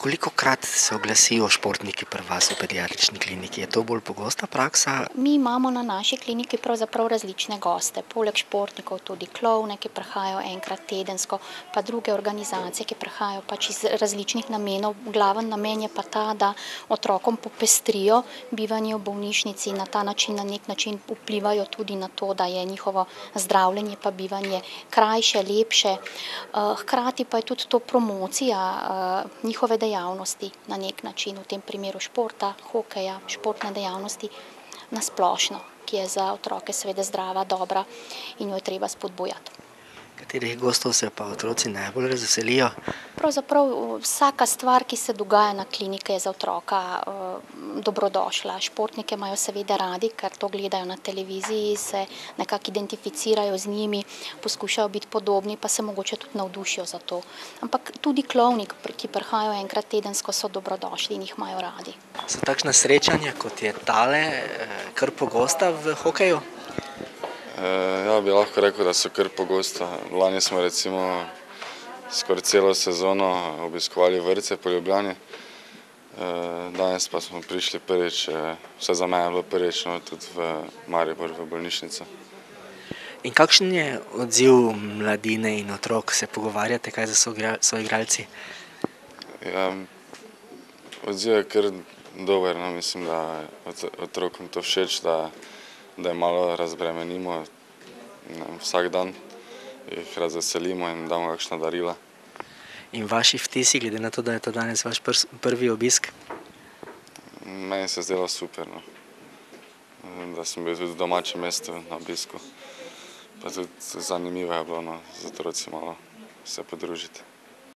Kolikokrat se oglasijo športniki pri vas v pediatrični kliniki? Je to bolj pogosta praksa? Mi imamo na naši kliniki pravzaprav različne goste, poleg športnikov tudi klovne, ki prihajajo enkrat tedensko, pa druge organizacije, ki prihajajo pač iz različnih namenov. Glaven namen je pa ta, da otrokom popestrijo bivanje v bolnišnici, na ta način, na nek način vplivajo tudi na to, da je njihovo zdravljenje pa bivanje krajše, lepše. Hkrati pa je tudi to promocija njihove dejavnosti na nek način, v tem primeru športa, hokeja, športne dejavnosti na splošno, ki je za otroke seveda zdrava, dobra in jo je treba spodbujati. Katerih gostov se pa otroci najbolj razveselijo? Pravzaprav vsaka stvar, ki se dogaja na kliniki, je za otroka dobrodošla. Športnike imajo seveda radi, ker to gledajo na televiziji, se nekako identificirajo z njimi, poskušajo biti podobni, pa se mogoče tudi navdušijo za to. Ampak tudi klovni, ki prihajajo enkrat tedensko, so dobrodošli in jih imajo radi. So takšna srečanja, kot je tale, kar pogosta v hokeju? Ja, bi lahko rekel, da so kar pogosta. Lani smo recimo skoraj celo sezono obiskovali vrtce po Ljubljani. Danes pa smo prišli prvič, vse za mene je bilo prvič, tudi v Maribor, v bolnišnico. In kakšen je odziv mladine in otrok? Se pogovarjate kaj za soigralci? Ja, odziv je kar dober, mislim, da otrokom to všeč, da jih malo razbremenimo vsak dan, jih razveselimo in damo kakšna darila. In vaši vtisi, glede na to, da je to danes vaš prvi obisk? Meni se je zdelo super, da sem bil tudi v domačem mestu na obisku, pa tudi zanimivo je bilo z otroci malo se podružiti.